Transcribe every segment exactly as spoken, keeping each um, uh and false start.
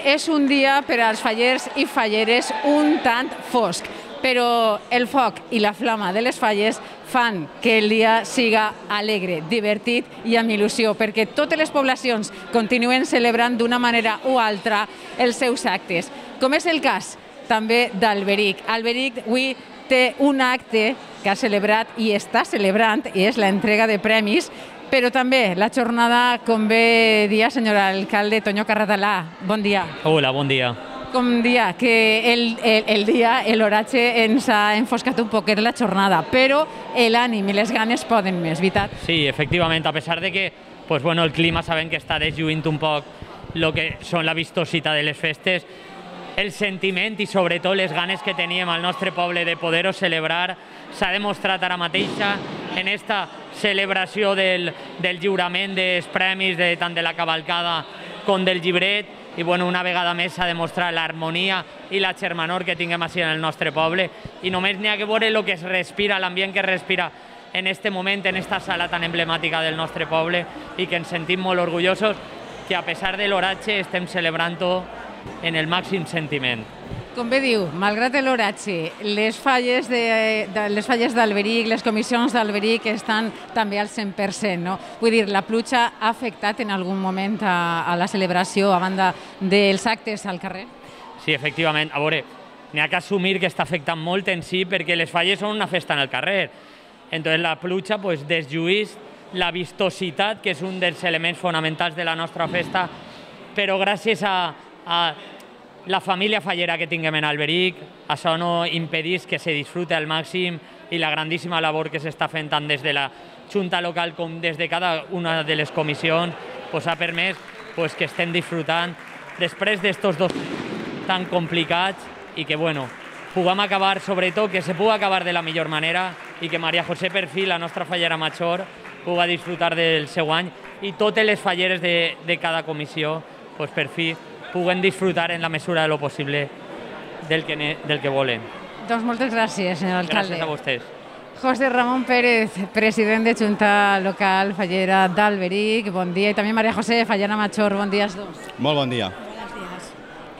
és un dia per als fallers i falleres un tant fosc, però el foc i la flama de les falles fan que el dia siga alegre, divertit i amb il·lusió, perquè totes les poblacions continuen celebrant d'una manera o altra els seus actes, com és el cas també d'Alberic. Alberic avui té un acte que ha celebrat i està celebrant, i és l'entrega de premis, però també la jornada, com bé dia, senyor alcalde Toño Carratalà. Bon dia. Hola, bon dia. Com dia, que el, el, el dia, l'oratge ens ha enfoscat un poquet la jornada, però l'ànim i les ganes poden més, veritat? Sí, efectivament, a pesar de que pues, bueno, el clima sabem que està deslluint un poc el que són la vistositat de les festes, el sentiment i sobretot les ganes que teníem al nostre poble de poder-ho celebrar s'ha demostrat ara mateixa en esta celebració del, del lliurament dels premis de, tant de la cavalcada com del llibret. I bueno, una vegada més s'ha demostrat l'harmonia i la germanor que tinguem així en el nostre poble, i només n'hi ha que veure el que es respira, l'ambient que es respira en aquest moment, en aquesta sala tan emblemàtica del nostre poble, i que ens sentim molt orgullosos que a pesar de l'oratge estem celebrant-ho en el màxim sentiment. Com bé diu, malgrat l'oratge, les falles de, de, les falles d'Alberic, les comissions d'Alberic estan també al cent per cent, no? Vull dir, la pluja ha afectat en algun moment a, a la celebració a banda dels actes al carrer? Sí, efectivament. A veure, n'hi ha que assumir que està afectant molt en si perquè les falles són una festa en el carrer. Entonces la pluja pues, deslluís la vistositat, que és un dels elements fonamentals de la nostra festa, però gràcies a, a la família fallera que tinguem en Alberic, això no impedís que se disfrute al màxim, i la grandíssima labor que s'està fent tant des de la Junta local com des de cada una de les comissions pues, ha permès pues, que estem disfrutant després d'estos dos tan complicats, i que bueno, puguem acabar, sobretot que se pugui acabar de la millor manera, i que Maria José per fi, la nostra fallera major, pugui disfrutar del seu any, i totes les falleres de, de cada comissió pues, per fi puguen disfrutar en la mesura de lo possible del que, del que volen. Doncs moltes gràcies, senyor alcalde. Gràcies a vostès. José Ramón Pérez, president de Junta Local Fallera d'Alberic, bon dia. I també Maria José, fallera major, bon dia als dos. Molt bon dia.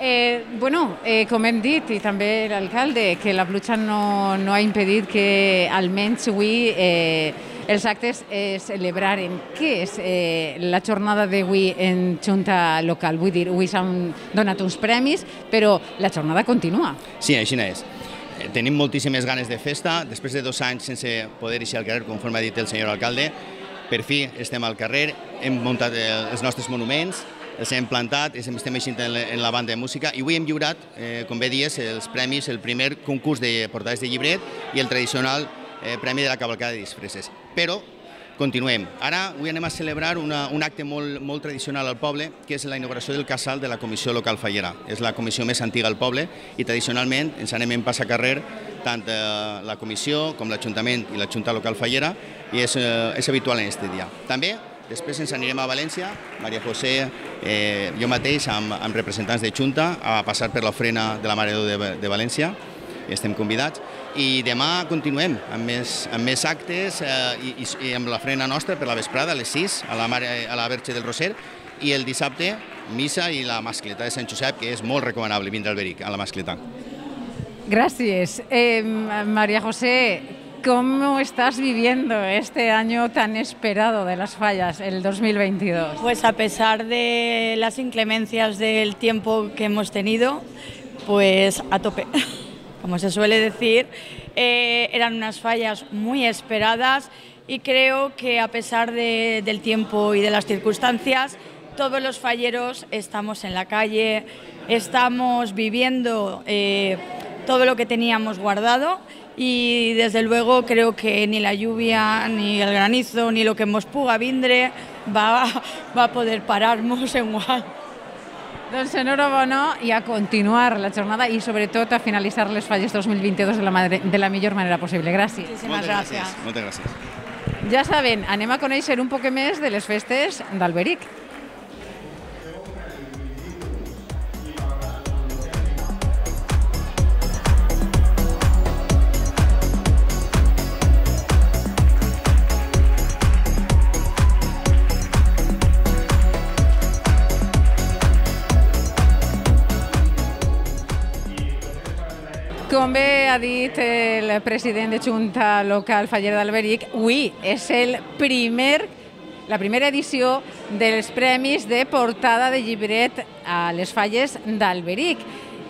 Eh, bueno, eh, com hem dit, i també l'alcalde, que la pluja no, no ha impedit que almenys avui eh, els actes es celebraren. Què és eh, la jornada d'avui en Junta Local? Vull dir, avui s'han donat uns premis, però la jornada continua. Sí, així és. Tenim moltíssimes ganes de festa. Després de dos anys sense poder eixir al carrer, conforme ha dit el senyor alcalde, per fi estem al carrer, hem muntat els nostres monuments, els hem plantat, estem eixint en la banda de música, i avui hem lliurat, eh, com bé dies, els premis, el primer concurs de portades de llibret i el tradicional eh, premi de la cavalcada de disfresses. Però continuem. Ara avui anem a celebrar una, un acte molt, molt tradicional al poble, que és la inauguració del casal de la Comissió Local Fallera. És la comissió més antiga al poble, i tradicionalment ens anem en passacarrer tant eh, la comissió com l'Ajuntament i la Junta Local Fallera, i és, eh, és habitual en aquest dia. També després ens anirem a València, Maria José, eh, jo mateix, amb, amb representants de Junta, a passar per l'ofrena de la Mare de Déu de, de València, estem convidats, i demà continuem amb més, amb més actes eh, i, i amb l'ofrena nostra per la vesprada, a les sis, a la, Mare, a la Verge del Roser, i el dissabte, missa i la mascleta de Sant Josep, que és molt recomanable vindre a Alberic, a la mascleta. Gràcies. Eh, Maria José, ¿cómo estás viviendo este año tan esperado de las fallas, el dos mil veintidós? Pues a pesar de las inclemencias del tiempo que hemos tenido, pues a tope. Como se suele decir, eh, eran unas fallas muy esperadas, y creo que a pesar de, del tiempo y de las circunstancias, todos los falleros estamos en la calle, estamos viviendo eh, todo lo que teníamos guardado. Y desde luego creo que ni la lluvia, ni el granizo, ni lo que mos puga vindre va, va a poder pararnos en guany. Doncs enhorabona, i a continuar la jornada i sobretot a finalitzar les falles dos mil vint-i-dos de la, de la millor manera possible. Gràcies. Moltes gràcies. Moltes gràcies. Ja saben, anem a conèixer un poc més de les festes d'Alberic. ha dit el president de Junta Local Faller d'Alberic, avui és el primer, la primera edició dels premis de portada de llibret a les Falles d'Alberic.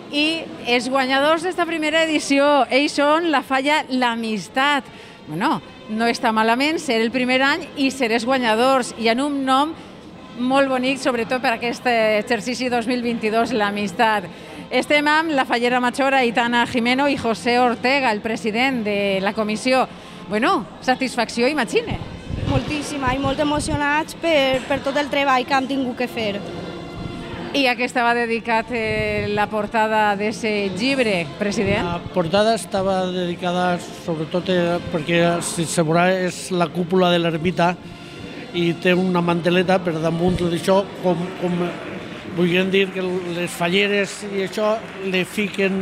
I els guanyadors d'esta primera edició, ells són la falla L'Amistat. Bueno, no està malament ser el primer any i ser els guanyadors, i en un nom molt bonic, sobretot per aquest exercici dos mil vint-i-dos, L'Amistat. Estem amb la fallera major Aitana Jimeno i José Ortega, el president de la comissió. Bueno, satisfacció, imagine. Moltíssima i molt emocionats per, per tot el treball que hem tingut que fer. I a què estava dedicat eh, la portada d'aquest llibre, president? La portada estava dedicada sobretot eh, perquè, si se veurà, és la cúpula de l'ermita i té una manteleta per damunt d'això, com, com volien dir que les falleres i això li fiquen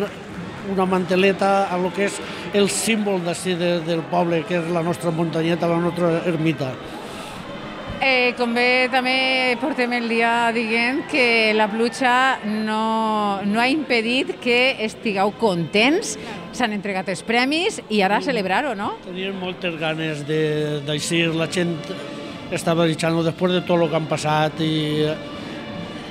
una manteleta a lo que és el símbol d'ací de, del poble, que és la nostra muntanyeta, la nostra ermita. Eh, com bé també portem el dia dient que la pluja no, no ha impedit que estigueu contents, s'han entregat els premis i ara celebrar-ho, no? Tenien moltes ganes d'aixir, la gent estava deixant-ho després de tot el que han passat i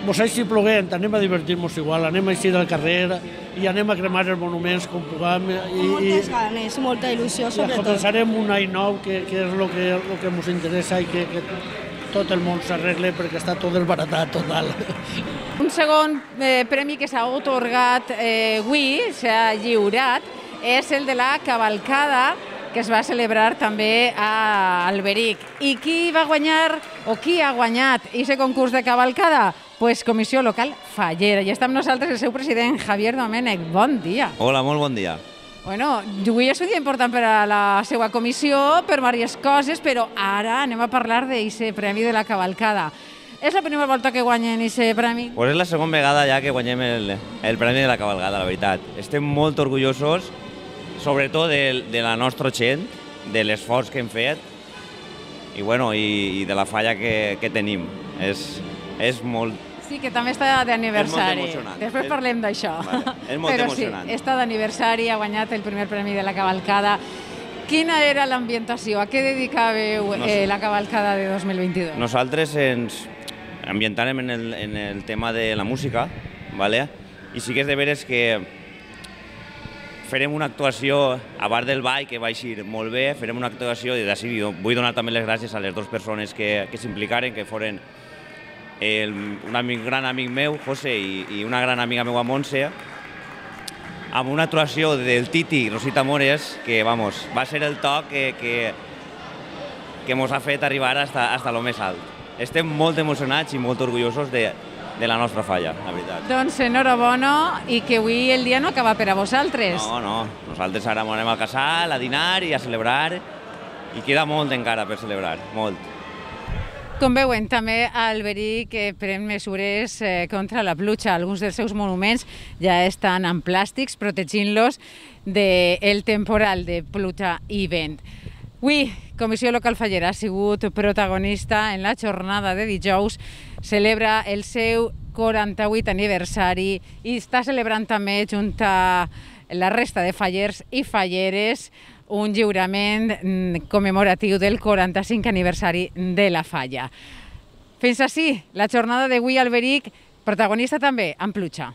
mos així ploguent, anem a divertir-nos igual, anem a eixir al carrer i anem a cremar els monuments com puguem. I, moltes ganes, molta il·lusió, sobretot. I començarem un any nou, que, que és el que, el que ens interessa i que, que tot el món s'arregle perquè està tot desbaratat, total. Un segon eh, premi que s'ha otorgat eh, avui, s'ha lliurat, és el de la cavalcada, que es va celebrar també a Alberic. I qui va guanyar, o qui ha guanyat aquest concurs de cavalcada? Pues Comissió Local Fallera. I està amb nosaltres el seu president, Javier Domènech. Bon dia. Hola, molt bon dia. Bueno, avui és un dia important per a la seva comissió, per diverses coses, però ara anem a parlar d'aquest premi de la cavalcada. És la primera volta que guanyen aquest premi? Pues és la segona vegada ja que guanyem el, el premi de la cavalcada, la veritat. Estem molt orgullosos, sobretot de, de la nostra gent, de l'esforç que hem fet i, bueno, i, i de la falla que, que tenim. És, és molt... Sí, que també està d'aniversari. És molt emocionant. Després és... parlem d'això. Vale. És molt Però emocionant. Sí, està d'aniversari, ha guanyat el primer premi de la cavalcada. Quina era l'ambientació? A què dedicàveu eh, la cavalcada de dos mil vint-i-dos? Nosaltres ens ambientàrem en el, en el tema de la música, ¿vale? I sí que és de veres que farem una actuació a bar del ball que va eixir molt bé, farem una actuació i d'ací vull donar també les gràcies a les dues persones que, que s'implicaren, que foren el, un amic, gran amic meu, José, i, i una gran amiga meua, Montse, amb una actuació del Titi i Rosita Mores, que vamos, va ser el toc que, que, que mos ha fet arribar hasta, hasta lo més alt. Estem molt emocionats i molt orgullosos de, de la nostra falla, la veritat. Doncs enhorabona, i que avui el dia no acaba per a vosaltres. No, no, nosaltres ara anem al casal, a dinar i a celebrar, i queda molt encara per celebrar, molt. Com veuen, també Alberic pren mesures eh, contra la pluja. Alguns dels seus monuments ja estan en plàstics, protegint-los del temporal de pluja i vent. Avui, Comissió Local Fallera ha sigut protagonista en la jornada de dijous, celebra el seu quaranta-vuit aniversari i està celebrant també, junt a la resta de fallers i falleres, un lliurament commemoratiu del quaranta-cinc aniversari de la falla. Fins ací la jornada d'avui a Alberic, protagonista també en pluja.